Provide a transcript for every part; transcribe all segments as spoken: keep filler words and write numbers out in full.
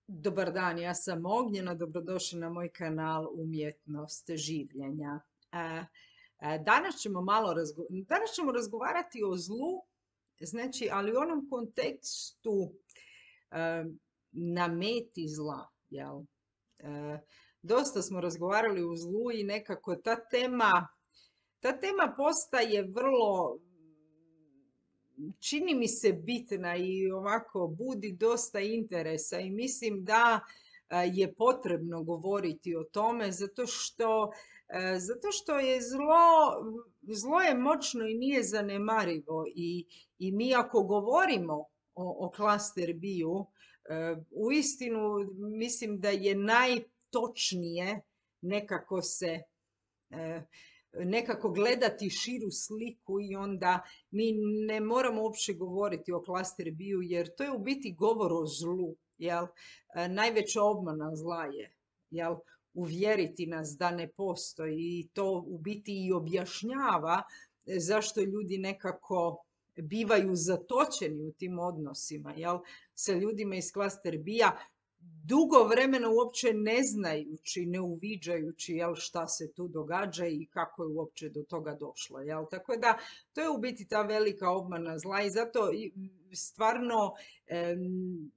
Dobar dan, ja sam Ognjena, dobrodošli na moj kanal Umjetnost življenja. E, e, Danas ćemo malo razgo- danas ćemo razgovarati o zlu, znači, ali u onom kontekstu e, na meti zla, jel? E, Dosta smo razgovarali o zlu i nekako ta tema, ta tema postaje vrlo, čini mi se bitna i ovako budi dosta interesa i mislim da e, je potrebno govoriti o tome zato što, e, zato što je zlo, zlo je moćno i nije zanemarivo i, i mi ako govorimo o, o klaster bio, e, uistinu mislim da je najtočnije nekako se e, nekako gledati širu sliku i onda mi ne moramo uopće govoriti o klaster bio jer to je u biti govor o zlu, jel? E, Najveća obmana zla je, jel? Uvjeriti nas da ne postoji i to u biti i objašnjava zašto ljudi nekako bivaju zatočeni u tim odnosima, jel? Sa ljudima iz klaster bija dugo vremena uopće ne znajući, ne uviđajući jel, šta se tu događa i kako je uopće do toga došlo. Jel? Tako da to je u biti ta velika obmana zla i zato stvarno em,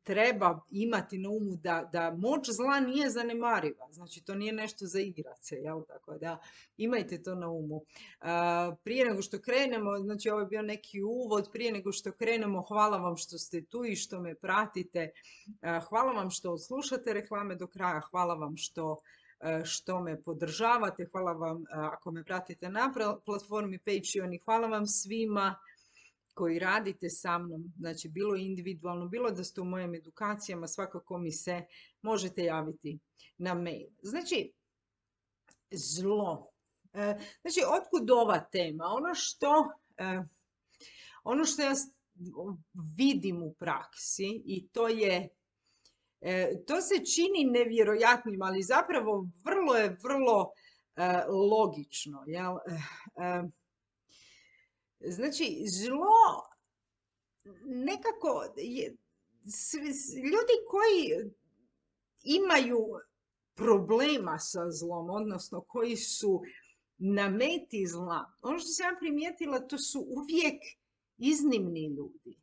treba imati na umu da, da moć zla nije zanemariva. Znači to nije nešto za igrat se, jel? Tako da imajte to na umu. A, prije nego što krenemo, znači ovo je bio neki uvod, prije nego što krenemo, hvala vam što ste tu i što me pratite. A, hvala vam što slušate reklame do kraja, hvala vam što što me podržavate, hvala vam ako me pratite na platformi Patreon i hvala vam svima koji radite sa mnom, znači bilo individualno, bilo da ste u mojim edukacijama, svakako mi se možete javiti na mail. Znači, zlo. Znači, otkud ova tema? Ono što, ono što ja vidim u praksi i to je, to se čini nevjerojatnim, ali zapravo vrlo je, vrlo logično. Jel? Znači, zlo nekako je, ljudi koji imaju problema sa zlom, odnosno koji su na meti zla, ono što sam ja primijetila, to su uvijek iznimni ljudi.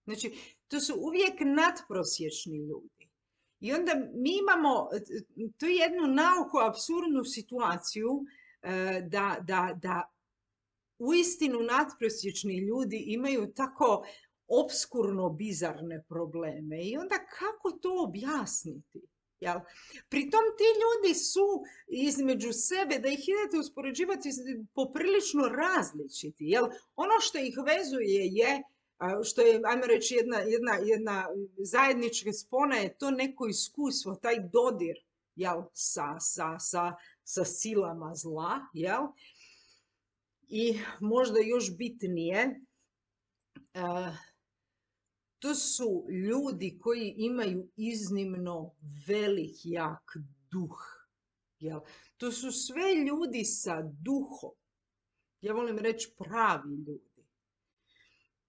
Znači, to su uvijek nadprosječni ljudi. I onda mi imamo tu jednu nauku, apsurdnu situaciju da, da, da uistinu nadprosječni ljudi imaju tako opskurno bizarne probleme i onda kako to objasniti? Jel? Pritom ti ljudi su između sebe, da ih idete uspoređivati, poprilično različiti. Jel? Ono što ih vezuje je, što je, ajmo reći, jedna, jedna, jedna zajednička spona je to neko iskustvo, taj dodir jel? Sa, sa, sa, sa silama zla, jel? I možda još bitnije, to su ljudi koji imaju iznimno velik, jak duh. Jel? To su sve ljudi sa duhom. Ja volim reći pravi ljudi.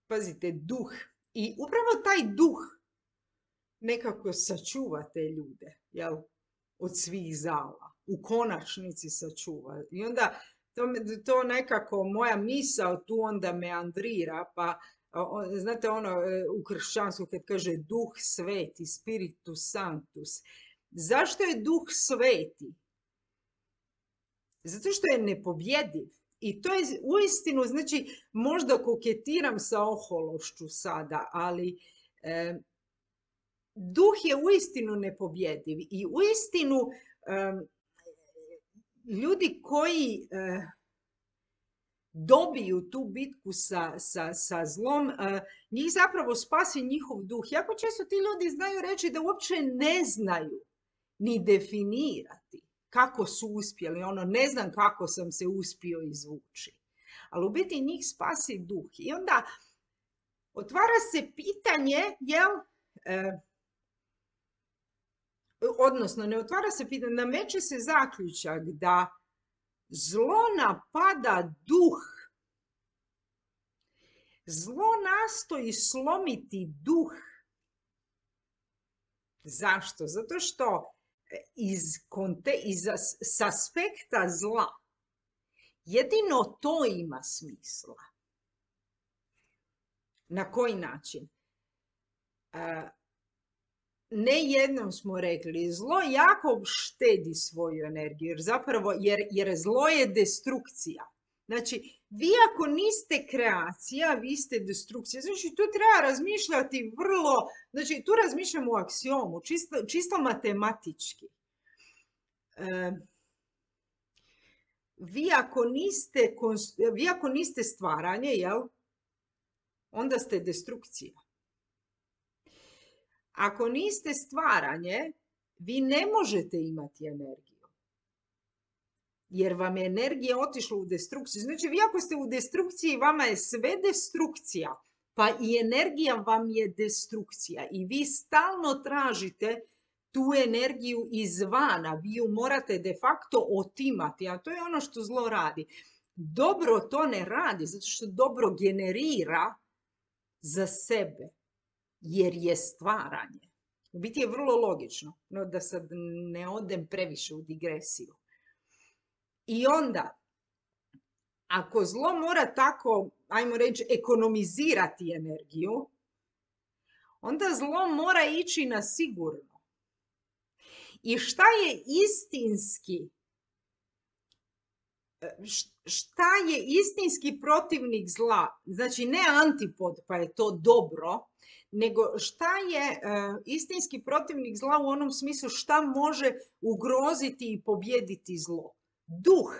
Pazite, duh. I upravo taj duh nekako sačuva te ljude, jel? Od svih zala. U konačnici sačuva. I onda To, to nekako moja misao tu onda meandrira, pa znate ono u kršćanstvu kad kaže duh sveti, spiritus sanctus. Zašto je duh sveti? Zato što je nepobjediv. I to je uistinu, znači možda koketiram sa ohološću sada, ali e, duh je uistinu nepobjediv i uistinu e, ljudi koji e, dobiju tu bitku sa, sa, sa zlom, e, njih zapravo spasi njihov duh. Jako često ti ljudi znaju reći da uopće ne znaju ni definirati kako su uspjeli. Ono, ne znam kako sam se uspio izvući. Ali u biti njih spasi duh. I onda otvara se pitanje, jel... E, odnosno ne otvara se pitanje, nameće se zaključak da zlo napada duh. Zlo nastoji slomiti duh. Zašto? Zato što iz, konte, iz s aspekta zla jedino to ima smisla. Na koji način? Ne jednom smo rekli, zlo jako štedi svoju energiju, jer zapravo, jer, jer zlo je destrukcija. Znači, vi ako niste kreacija, vi ste destrukcija. Znači, tu treba razmišljati vrlo, znači, tu razmišljamo u aksiomu, čisto, čisto matematički. E, vi, ako niste, vi ako niste stvaranje, jel, onda ste destrukcija. Ako niste stvaranje, vi ne možete imati energiju. Jer vam je energija otišla u destrukciju. Znači, vi ako ste u destrukciji, vama je sve destrukcija. Pa i energija vam je destrukcija. I vi stalno tražite tu energiju izvana. Vi ju morate de facto otimati. A to je ono što zlo radi. Dobro to ne radi, zato što dobro generira za sebe. Jer je stvaranje. U biti je vrlo logično, no da sad ne odem previše u digresiju. I onda, ako zlo mora tako, ajmo reći, ekonomizirati energiju, onda zlo mora ići na sigurno. I šta je istinski, šta je istinski protivnik zla? Znači ne antipod, pa je to dobro, nego šta je uh, istinski protivnik zla u onom smislu šta može ugroziti i pobijediti zlo? Duh.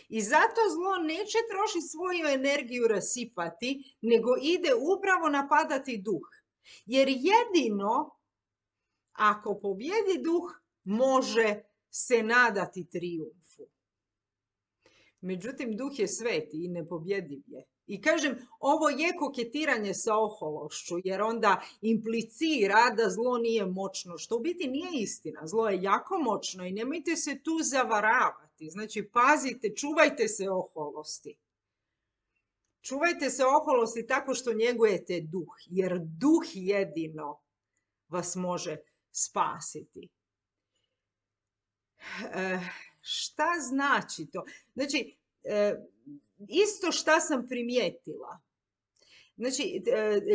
I zato zlo neće trošiti svoju energiju rasipati, nego ide upravo napadati duh. Jer jedino ako pobjedi duh, može se nadati trijumfu. Međutim, duh je sveti i nepobjediv je. I kažem, ovo je koketiranje sa ohološću, jer onda implicira da zlo nije moćno, što u biti nije istina. Zlo je jako moćno i nemojte se tu zavaravati. Znači, pazite, čuvajte se oholosti. Čuvajte se oholosti tako što njegujete duh, jer duh jedino vas može spasiti. E, šta znači to? Znači, e, isto šta sam primijetila. Znači,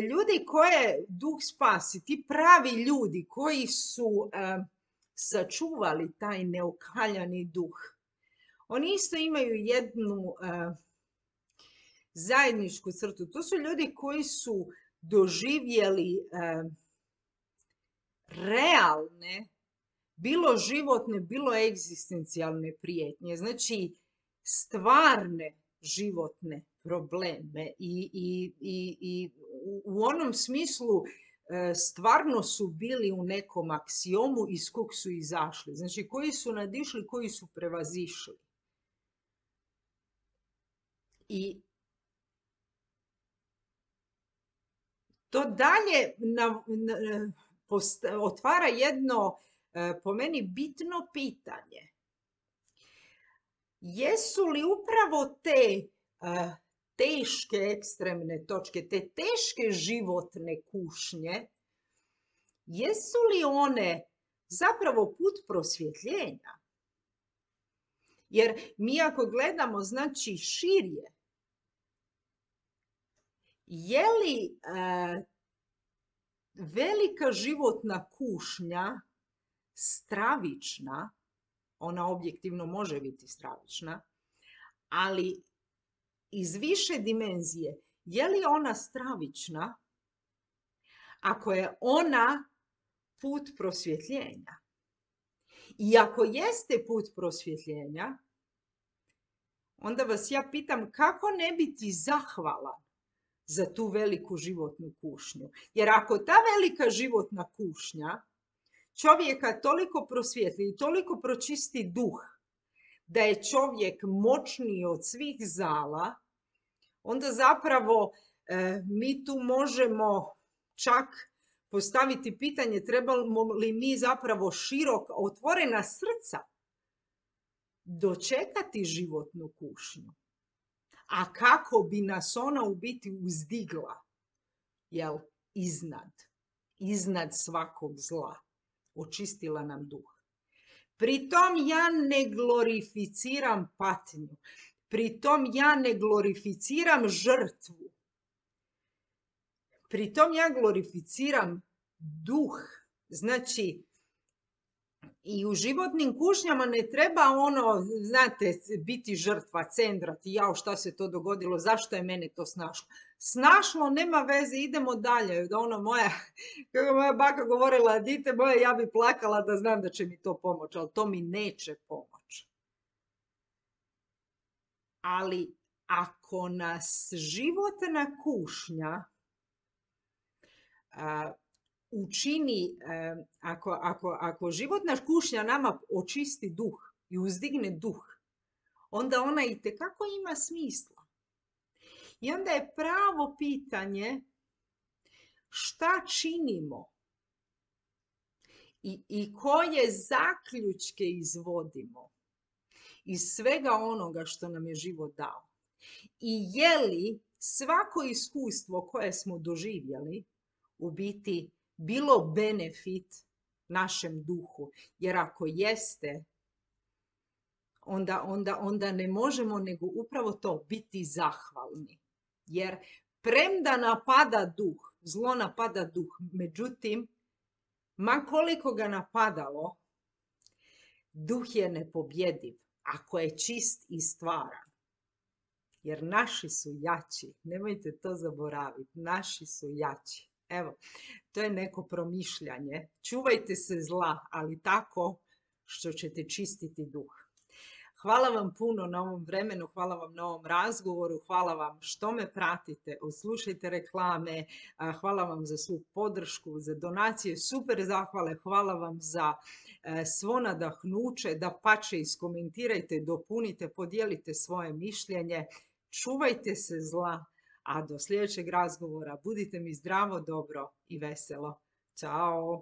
ljudi koje duh spasi, ti pravi ljudi koji su e, sačuvali taj neokaljani duh, oni isto imaju jednu e, zajedničku crtu. To su ljudi koji su doživjeli e, realne, bilo životne, bilo egzistencijalne prijetnje. Znači, stvarne životne probleme i, i, i, i u onom smislu stvarno su bili u nekom aksiomu iz kog su izašli. Znači, koji su nadišli, koji su prevazišli. I to dalje na, na, post, otvara jedno, po meni, bitno pitanje. Jesu li upravo te uh, teške ekstremne točke, te teške životne kušnje, jesu li one zapravo put prosvjetljenja? Jer mi ako gledamo, znači, širje, je li uh, velika životna kušnja stravična? Ona objektivno može biti stravična, ali iz više dimenzije, je li ona stravična ako je ona put prosvjetljenja? I ako jeste put prosvjetljenja, onda vas ja pitam kako ne biti zahvalan za tu veliku životnu kušnju. Jer ako ta velika životna kušnja čovjeka toliko prosvjetli i toliko pročisti duh da je čovjek moćniji od svih zala, onda zapravo e, mi tu možemo čak postaviti pitanje trebamo li mi zapravo širok, otvorena srca dočekati životnu kušnju. A kako bi nas ona u biti uzdigla, jel, iznad, iznad svakog zla. očistila nam duh. Pritom ja ne glorificiram patnju. Pritom ja ne glorificiram žrtvu. Pritom ja glorificiram duh. Znači, i u životnim kušnjama ne treba ono, znate, biti žrtva, cendrati, jao šta se to dogodilo, zašto je mene to snašlo. Snašlo, nema veze, idemo dalje. Da ono moja, kako moja baka govorila, dite moje, ja bi plakala da znam da će mi to pomoći, ali to mi neće pomoći. Ali ako nas životna kušnja a, učini, ako, ako, ako životna kušnja nama očisti duh i uzdigne duh, onda ona itekako ima smisla. I onda je pravo pitanje šta činimo i, i koje zaključke izvodimo iz svega onoga što nam je život dao. I je li svako iskustvo koje smo doživjeli u biti bilo benefit našem duhu? Jer ako jeste, onda, onda, onda ne možemo nego upravo to, biti zahvalni. Jer premda napada duh, zlo napada duh, međutim, ma koliko ga napadalo, duh je nepobjediv ako je čist i stvaran. Jer naši su jači, nemojte to zaboraviti, naši su jači. Evo, to je neko promišljanje. Čuvajte se zla, ali tako što ćete čistiti duh. Hvala vam puno na ovom vremenu, hvala vam na ovom razgovoru, hvala vam što me pratite, odslušajte reklame, hvala vam za svu podršku, za donacije, super zahvale, hvala vam za svo nadahnuće, da pače iskomentirajte, dopunite, podijelite svoje mišljenje, čuvajte se zla, a do sljedećeg razgovora budite mi zdravo, dobro i veselo. Ćao!